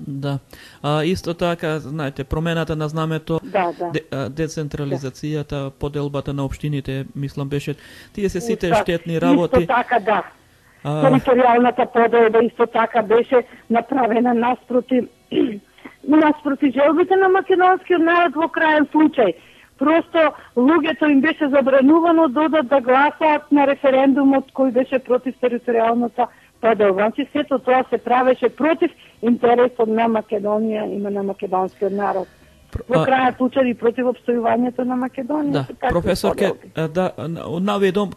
Да. Исто така, знаете, промената на знамето, децентрализацијата, поделбата на општините, мислам беше, тие се сите штетни работи. Исто така, да. Територијалната поделба исто така беше направена наспроти желбите на македонскиот народ во крајен случај. Просто луѓето им беше забранувано да гласаат на референдумот кој беше против територијалната поделба. Значи сето тоа се правеше против интересот на Македонија и на македонскиот народ. Во крајен случај и против опстојувањето на Македонија. Да, професорке, наведом,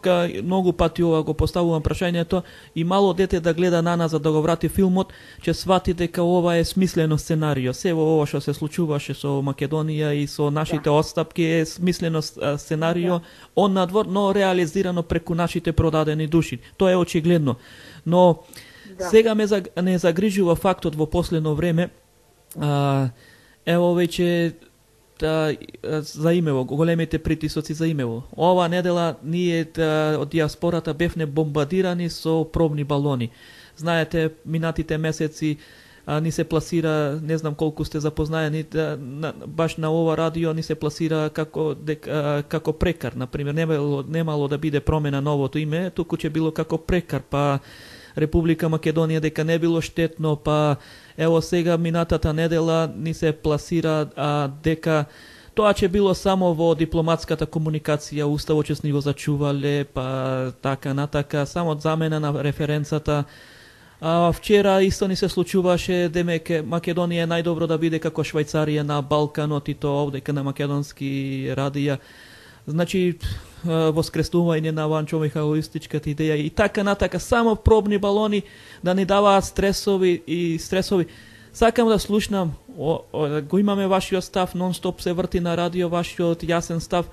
многу пати ова го поставувам прашањето, и мало дете да гледа на нас за да го врати филмот, ќе свати дека ова е смислено сценарио. Се ова што се случуваше со Македонија и со нашите отстапки е смислено сценарио, он надвор, но реализирано преку нашите продадени души. Тоа е очигледно. Но сега не загрижува фактот во последно време, ево веќе за имево, големите притисоци за имево. Ова недела ние од диаспората бевне бомбардирани со пробни балони. Знаете, минатите месеци ни се пласира, не знам колку сте запознаени, баш на ова радио ни се пласира како прекар, например, немало да биде промена новото име, туку ќе било како прекар, па Република Македонија дека не било штетно, па ево сега минатата недела ни се пласира дека тоа ќе било само во дипломатската комуникација, уставот ќе ни го зачувале, па така натака, само замена на референцата. Вчера исто ни се случуваше, демеке Македонија е најдобро да биде како Швајцарија на Балканот и тоа овдека на македонски радија. Значи, воскреснување на Ванчо Михайловистичката идеја и така натака, само пробни балони да ни даваат стресови. Сакам да слушнам, го имаме вашиот став, нон-стоп се врти на радио вашиот јасен став,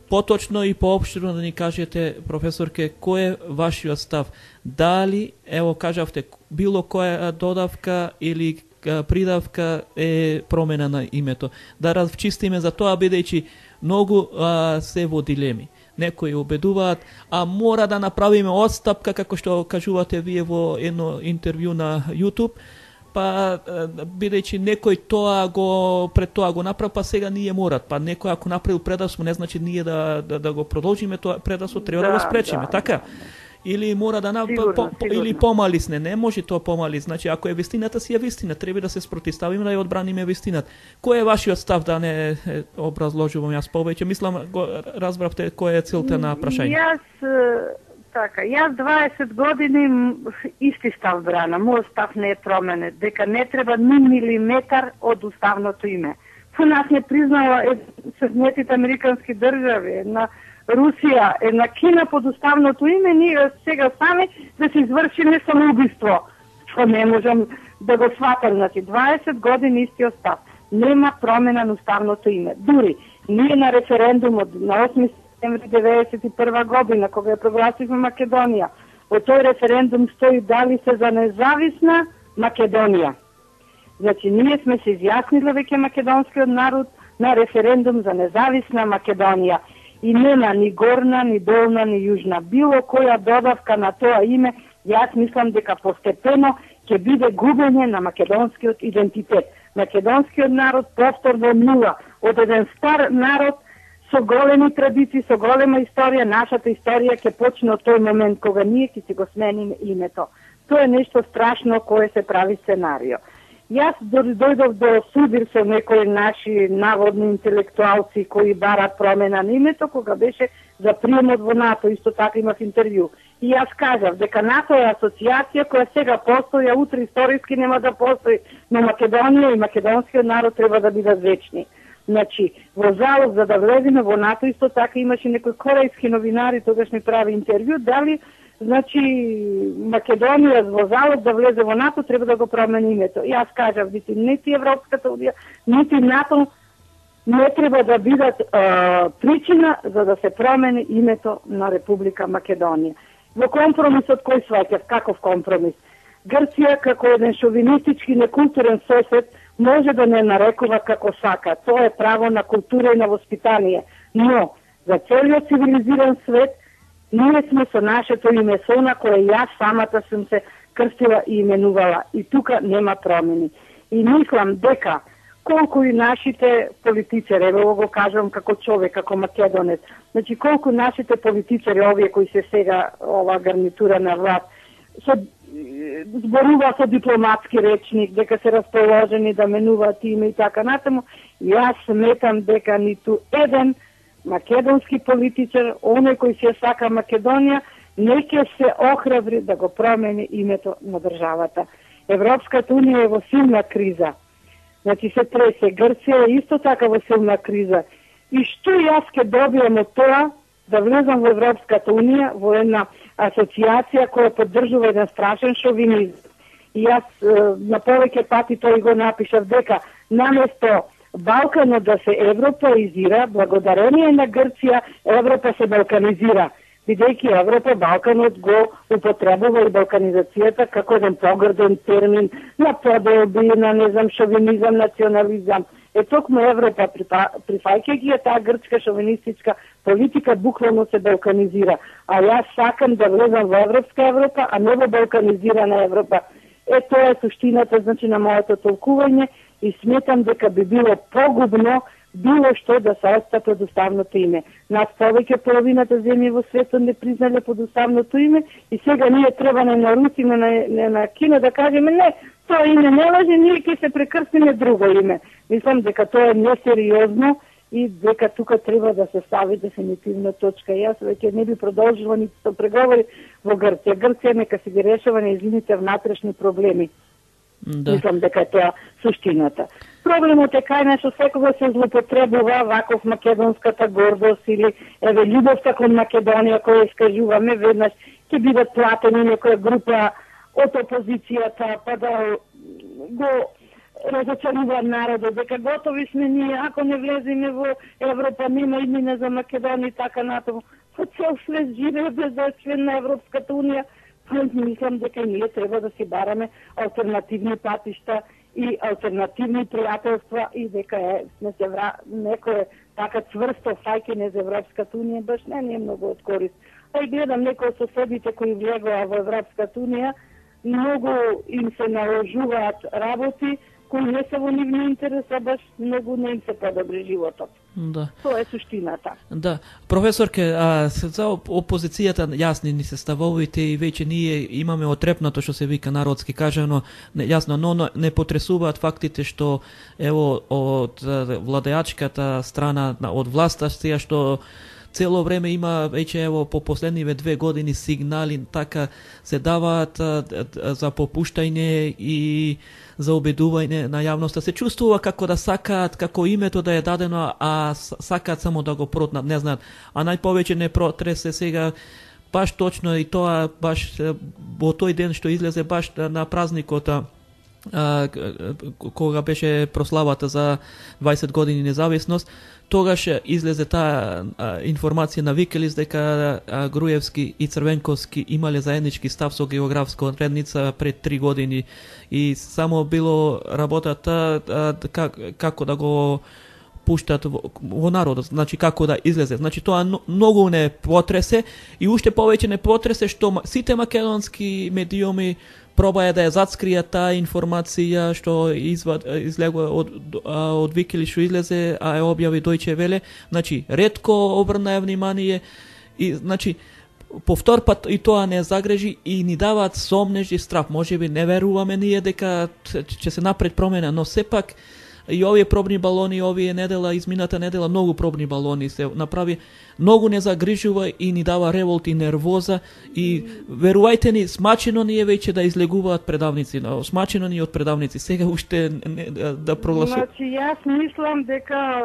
поточно и поопштено да ни кажете, професорке, кој е вашиот став? Дали, ево кажавте, било која додавка или придавка е промена на името? Да разчистиме за тоа, бидејќи многу се во дилеми. Некои убедуваат, мора да направиме отстапка, како што кажувате вие во едно интервју на YouTube, па бидејќи некој пред тоа го направи, па сега ние морат. Па некој ако направил предавство, не значи ние да го продолжиме тоа предавство, треба да го спречиме, така? Или мора да или помалисне, не може тоа помали. Значи ако е вистината, си е вистина, треба да се спротивставиме, да ја одбраниме вистината. Кој е вашиот став, да не образложувам јас повеќе? Мислам, разбравте која е целта на прашање. Јас 20 години исти став брана. Мојот став не е променет, дека не треба ни милиметар од уставното име. Со нас не признава Соединетите американски држави, на Русија, една Кина под уставното име, ние сега сами да се извршиме самоубиство, што не можам да го сватам. Значи, 20 години истиот став. Нема промена на уставното име. Дури, ние на референдумот на 8 септември 1991 година, кога ја прогласивме Македонија, од тој референдум стои дали се за независна Македонија. Значи, ние сме се изјаснили веќе македонскиот народ на референдум за независна Македонија. И нема ни горна, ни долна, ни јужна. Било која додавка на тоа име, јас мислам дека постепено ќе биде губење на македонскиот идентитет. Македонскиот народ повторно нула. Од еден стар народ со големи традиции, со голема историја, нашата историја ќе почне од тој момент кога ние ќе си го смениме името. Тоа е нешто страшно кое се прави сценарио. Јас дојдов до судир со некои наши наводни интелектуалци кои барат промена на името, кога беше за приемот во НАТО, исто така имав интервју. И јас кажав дека НАТО е асоциација која сега постои, а утре историски нема да постои, но Македонија и македонскиот народ треба да бидат вечни. Значи, во залог за да влеземе во НАТО, исто така имаше некои корејски новинари, тогаш ми прави интервју, дали значи, Македонија во залог да влезе во НАТО треба да го промени името. Јас кажав, нити Европската унија, нити НАТО не треба да бидат причина за да се промени името на Република Македонија. Во компромисот кој сваќав, каков компромис? Грција како еден шовинистички некултурен сосед може да не нарекува како сака. Тоа е право на култура и на воспитание. Но за целиот цивилизиран свет ние сме со нашето име, со на кое јас самата сум се крстила и именувала. И тука нема промени. И мислам дека колку и нашите политичари, ево го кажам како човек, како македонец, значи колку нашите политичари, овие кои се сега ова гарнитура на власт, зборува со дипломатски речник, дека се расположени да менуваат име и така натаму, јас сметам дека ниту еден македонски политичар, оној кој се сака Македонија, не ќе се охрабри да го промени името на државата. Европската унија е во силна криза. Значи се тресе, Грција е исто така во силна криза. И што јас ќе добиам од тоа да влезам во Европската унија, во една асоциација која поддржува еден страшен шовинизм. И јас на повеќе пати тој го напишав дека наместо Балканот да се европеизира, благодарение на Грција, Европа се балканизира. Бидејќи Европа, Балканот го употребува и балканизацијата како еден погрден термин на поделби, на не знам шовинизам, национализам. Токму Европа, прифаќајќи таа грчка шовинистичка политика, буквално се балканизира. А јас сакам да влезам во Европска Европа, а не во балканизирана Европа. Тоа е суштината, значи, на моето толкување и сметам дека би било погубно било што да се отстапи од уставното име. Нас повеќе половината земји во светот не признале под уставното име и сега ние треба на Русија, на Кина да кажеме не, тоа име не важи, ние ќе се прекрстиме друго име. Мислам дека тоа е несериозно и дека тука треба да се стави дефинитивна точка. Јас веќе не би продолжила ниту со преговори во Грција. Грција нека се ги решава нејзините внатрешни проблеми. Да. Мислам дека тоа суштината. Проблемот е кај што секогаш се злоупотребува ваков македонската гордост или еве љубовта кон Македонија која искажуваме, веднаш ќе бидат платени некоја група од опозицијата па да го разочарува народот, дека готови сме ние, ако не влеземе во Европа, нема иднина за Македонија и така натаму. По цел свет живее без да е член на Европската унија. Мислам дека ние треба да си бараме алтернативни патишта и алтернативни пријателства и дека сме се некој така цврсто фаќање за Европската унија баш не е многу од корист. А и гледам некои од соседите кои влегоа во Европската унија, многу им се наложуваат работи кои не се во нивни интерес, а баш многу не им се подобри животот. Да. Тоа е суштината. Да. Професорке, за опозицијата јасни ни се ставовите и веќе ние имаме отрепнато што се вика народски кажано, јасно, но не потресуваат фактите што ево од владеачката страна од власта што цело време има веќе ево по последниве 2 години сигнали така се даваат за попуштање и за обидување на јавноста. Се чувствува како да сакаат, како името да е дадено, а сакаат само да го протнат, не знаат. А најповеќе не протресе сега баш точно и тоа баш во тој ден што излезе баш на празникот кога беше прославата за 20 години независност, тогаш излезе таа информација на Викелис дека Груевски и Црвенковски имале заеднички став со географска одредница пред 3 години и само било работата како да го пуштат во народот, значи како да излезе. Значи тоа многу не потресе и уште повеќе не потресе што сите македонски медиуми пробаја да ја зацкријат таа информација што излегува од Викили што излезе, а ја објави Дојче Веле. Значи, ретко обрнаја внимание и значи повтор пат и тоа не загрежи и ни даваат сомнеж и страв. Можеби не веруваме ние дека ќе се напред промена, но сепак и овие пробни балони, овие недела, измината недела, многу пробни балони се направи, многу не загрижува и ни дава револт и нервоза и верувајте ни, смачено ни е веќе да излегуваат предавници, смачено ни од предавници, сега уште да прогласува. Значи, јас мислам дека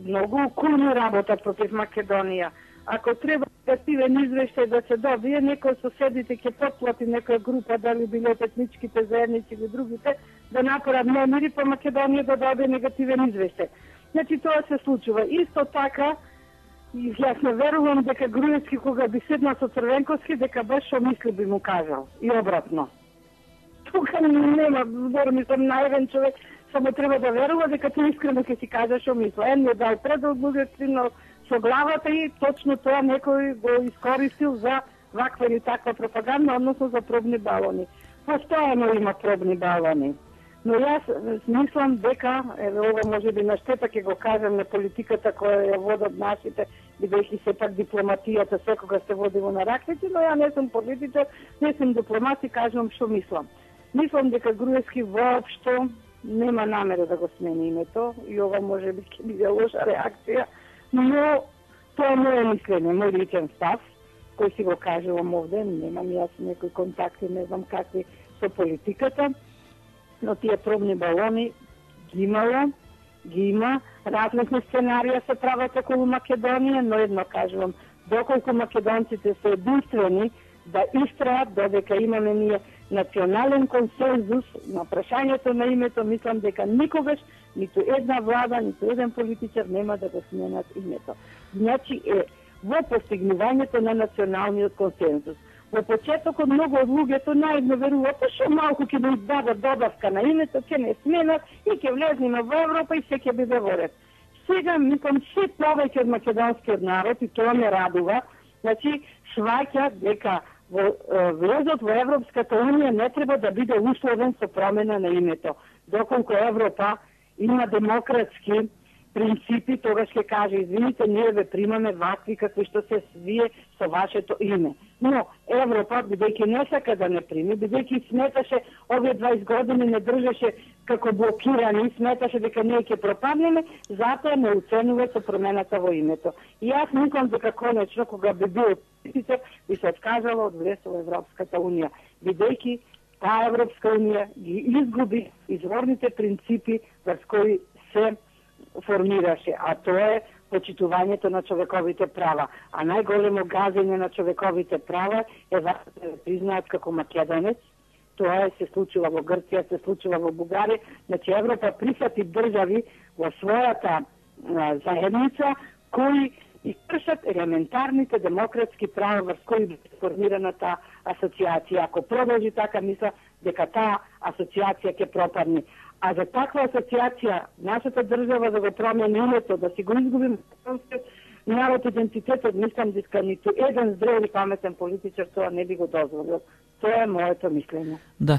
многу кулно работат против Македонија. Ако треба негативен извештај да се добие, некој соседите ќе потплати некоја група, дали било етничките заедници или другите, да направат номери по Македонија да добие негативен извештај. Значи тоа се случува. Исто така, јас не верувам дека Груевски кога би седнал со Црвенковски, дека баш што мисли би му кажал. И обратно. Тука нема збор, мислам, наивен човек, само треба да верува дека тој искрено ќе си каже што мисли. Не дал предал, другиот стигнал со главата и точно тоа некој го искористил за ваква или таква пропаганда, односно за пробни балони. Постојано има пробни балони. Но јас мислам дека, ова може би на штета ќе го кажам на политиката која ја водат нашите, бидејќи сепак дипломатијата секогаш се води во на ракети, но ја не сум политичар, не сум дипломат и кажам што мислам. Мислам дека Груевски воопшто нема намера да го смени името и ова може би ќе биде лоша реакција, но тоа е моје мислење, мој личен став, кој си го кажувам овде, немам јас некои контакти, не знам какви со политиката, но тие пробни балони ги имало, ги има, различни сценарија се прават околу Македонија, но едно кажувам, доколку македонците се единствени да истраат додека имаме ние национален консензус на прашањето на името, мислам дека никогаш ниту една влада, ниту еден политичар нема да го сменат името. Значи во постигнувањето на националниот консензус. Во почетокот многу од луѓето наивно веруваат што малку ќе да дадат добавка на името, ќе не сменат и ќе влеземе во Европа и се ќе биде во ред. Сега мислам се повеќе од македонскиот народ и тоа ме радува, значи сваќа дека влезот во Европската унија не треба да биде условен со промена на името. Доколку Европа има демократски принципи, тогаш ќе каже, извините, ние ве примаме вакви какви што се вие со вашето име. Но Европа, бидејќи не сака да не прими, бидејќи сметаше овие 20 години не држеше како блокирани, сметаше дека ние ќе пропаднеме, затоа не оценува со промената во името. И јас мислам дека конечно, кога би бил политичар, би се откажала од влез во Европската унија, бидејќи таа Европска унија ги изгуби изворните принципи врз кои се формираше, а тоа е почитувањето на човековите права. А најголемо газење на човековите права е да се признаат како македонец. Тоа се случува во Грција, се случува во Бугарија. Значи Европа прифати држави во својата заедница кои и кршат елементарните демократски права врз кои би формирана таа асоциација. Ако продолжи така, мисля дека таа асоциација ќе пропадне. А за таква асоциација, нашата држава да го промени името, да си го изгубим народ идентитетот, мислам дека ниту еден зрел и паметен политичар тоа не би го дозволил. Тоа е моето мислење. Да.